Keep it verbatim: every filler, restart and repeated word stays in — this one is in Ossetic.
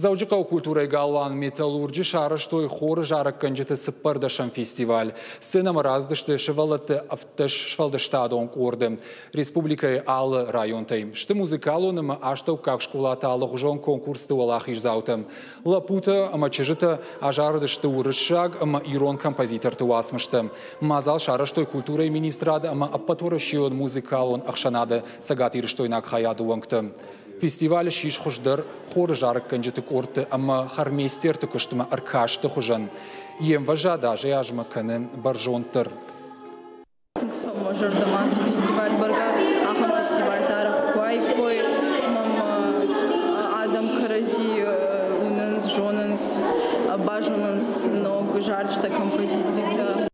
Дзӕуджыхъӕуы культурӕйы галуан «Металлурджы» сарӕзтой хоры зарӕггӕнджыты цыппӕрдӕсӕм фестиваль. Сценӕмӕ рацыдысты сывӕллӕтты ӕвддӕс сфӕлдыстадон къорды республикӕйы алы районтӕй. Сты музыкалон ӕмӕ астӕуккаг скъолаты алыгъуызон конкурсты уӕлахиздзаутӕ. Лӕппутӕ ӕмӕ чызджытӕ азарыдысты уырыссаг ӕмӕ ирон композиторты уацмыстӕ. Мадзал сарӕзтой культурӕйы министрад ӕмӕ ӕппӕтуӕрӕсейон музыкалон ӕхсӕнады цӕгатирыстойнаг хайады уӕнгтӕ. Фестиваль ссис хуыздӕр хоры зарӕггӕнджыты къордты ӕмӕ хормейстерты куыстмӕ ӕркасты хуызӕн. Йе мвӕзад азӕй-азмӕ кӕны бӕрзонддӕр. Тынг цӕуы мӕ зӕрдӕмӕ ацы фестиваль, бӕргӕ ахӕм фестивальтӕ арӕх куы уаиккой, ӕмӕ адӕм кӕрӕдзи уынынц, зонынц, базонынц ног зарджытӕ, композицитӕ.